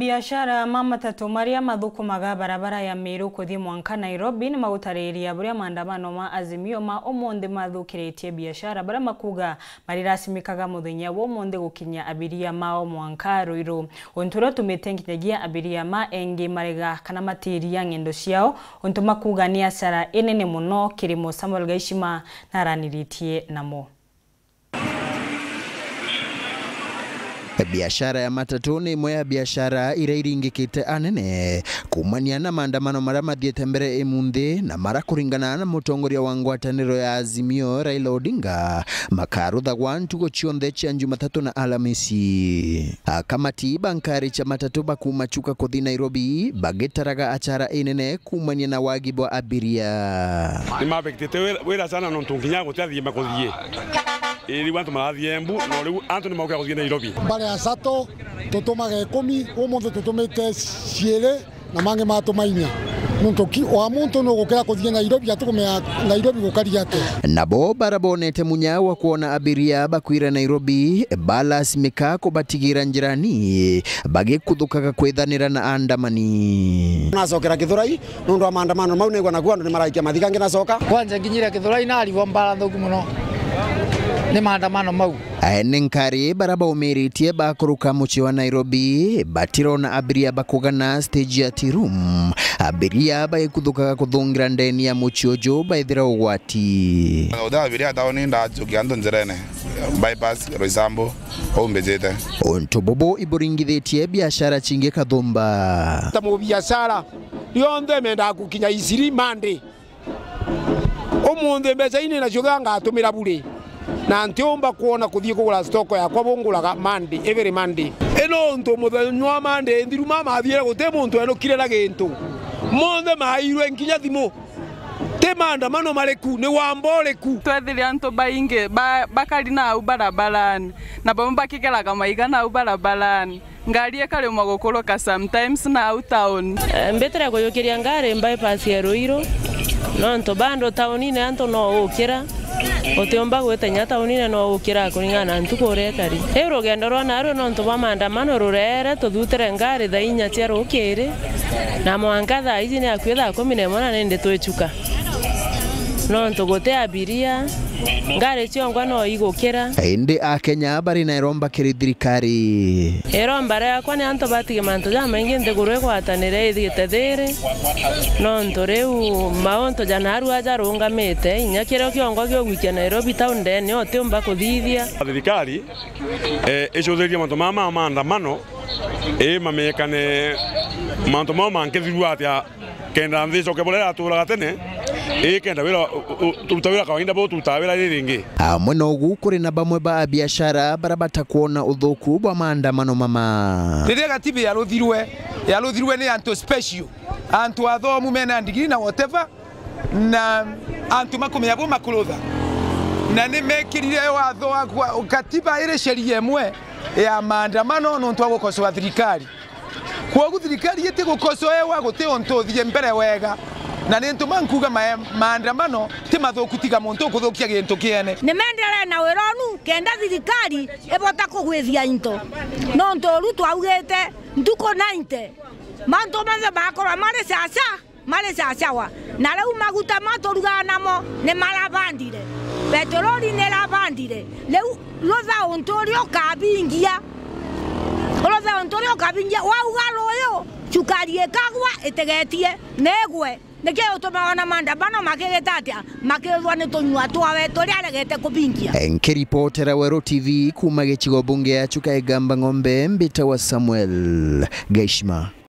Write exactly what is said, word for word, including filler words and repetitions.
Biashara ma matatu maria mathukumaga barabara ya Meru kuthii mwanka Nairobi ni magutariria buria maandamano ma Azimio ma umunthi mathukiritie biashara, baria makuga marirasimikaga muthenya wa umunthi gukinyia abiria mao mwanka Ruiru. Untu uria utumite nginyagia abiria ma engi marega kana matiria ng'endo ciao, untu makuga ni asara inene muno kirimo. Samuel Gaishima naraniritie namo. Biashara ya matatu ni imwe ya biashara iria iringikite anene kumania na maandamano maria mathiite mbere imunthi, na mara kuringana na mutongoria wa ngwataniro ya Azimio, Raila Odinga, makaruthagwa ntuku cionthe cia Jumatatu na Alamisi. Akamati ba nkari cia matatu bakuma Chuka kuthi Nairobi bagitaraga achara inene kumania na wagi bwa abiria. Ni mabekitite wira, wira sana nontu nginya guti athii makuthii. Ii, riu antu marathii Embu, no riu antu ni maukira kuthii Nairobi. Mbare ya Sato, tutumaga ikumi, umunthi tutumite ciiri, na mangi matuma inya. Nontu ki, wa muntu nugukira kuthii Nairobi, atukumea Nairobi gukari atia? Nabo bara bonete munya wa kwona abiria bakwira Nairobi, balasimika kubatigira njirani, bagikuthukaga kwithanira na andamani. Nacokera Kithurai, nontu wa maandamano mau, naigua naku antu ni maraikia mathikangi nacoka. Kwanja nginyire Kithurai narigwa mbara nthuku muno ni maandamano mau. Ene nkari bara baumiritie bakuruka mucii wa Nairobi, batirona abiria bakugana stage ya Tea Room. Abiria bagikuthukaga kuthungira ndeni ya mucii uju baithira ugwati. Uthe abiria tauni ndajukia antu njirene. Bypass, Roysambu, uu mbijite. Untu bubu iburingithitie biashara cingi kathumba. Ta mubiashara, rionthe mendaga gukinya Eastleigh Monday. Umunthi mbeca ii ninacio ngatumira buri, na ntiumba kwona kuthii kugura stock yakwa bunguraga Monday, every Monday. Ino untu muthenya wa Monday nthiru mama athiire guti muntu enukire na gintu. Monthe mairwe nkinya thimu. Ti maandamano mariku, ni wamba uriku? Twethire antu baingi ba-, bakari nau barabarani, na bamwe bakigeraga maiga nau barabarani. Ngari ikaremwa gukuruka sometimes nau town. Eh, mbitire kuyukiria ngari bypass ya Ruiru, nontu bado taunine antu no ukira, utiumba gwita inya taunine no ukira kuringana na ntuku uria ikari. Riu rugendo rwa narua nontu bwa maandamano rureere, tuthutire ngari thaa inya cia rukiri, na mwanka thaa iji ni akui thaa kumi na imwe na nindi twichuka. Nontu guti abiria, ngari ciongwa no igukira. Indi Akenya bari na iromba kiri thirikari. Iromba riakwa ni antu batige mantu jamaingi nthiguru igwatanire ithiite thiiri, nontu riu mauntu ja narua jarungamite, inya kirio kiongwa giugwikia Nairobi town ndene utiumba kuthithia. Thirikari, eh, icuthiririe mantu mama ma maandamano, ii mamekane mantu mao mankithirua atia. Kenda nthi icoke buria iraturaga tene, ii kenda wira, u-, u-, turuta wira kawaida buu turutaga wira riringi. Amwe na ugu, kuri na bamwe ba abiashara baria batakwona uthuku bwa maandamano mama. Riria gatiba yaruthirwe, yaruthirwe ni antu special, antu athomu mena ndigiri na whatever, na antu makumenya bu makurutha, na ni mekirire watho wa kwa-, katiba iri sheria imwe ya maandamano nontu wa gukosoa thirikari. Kwogu thirikari itigukosoewa, guti untu uthie mbere wega, na ni ntuma nkuga mae-, maandamano ti mathuku tiga muntu ukuthukia gintu kiene. Ni menderee na wira unu kenda thirikari ibota kugwithia into, nontu uru twaugite ntuku ninety mantu monthe makorwa mari caca, mari cacawa. Na riu maguta maturugaga namo ni marabandire, petroli ni irabandire. Riu rutha untu uria ukabingia, rutha untu uria ukabingia, wauga ruyu, cukari ikagwa itegetie, ni igwe. Niki utumaga ona maandamano makigita atia? Makithwa ni tunyua twawe turia aregete kubingia. Nkiripotera Weru T V kuuma gicigo bunge ya Chuka Igamba Ng'ombe, mbitawa Samuel Gaishima.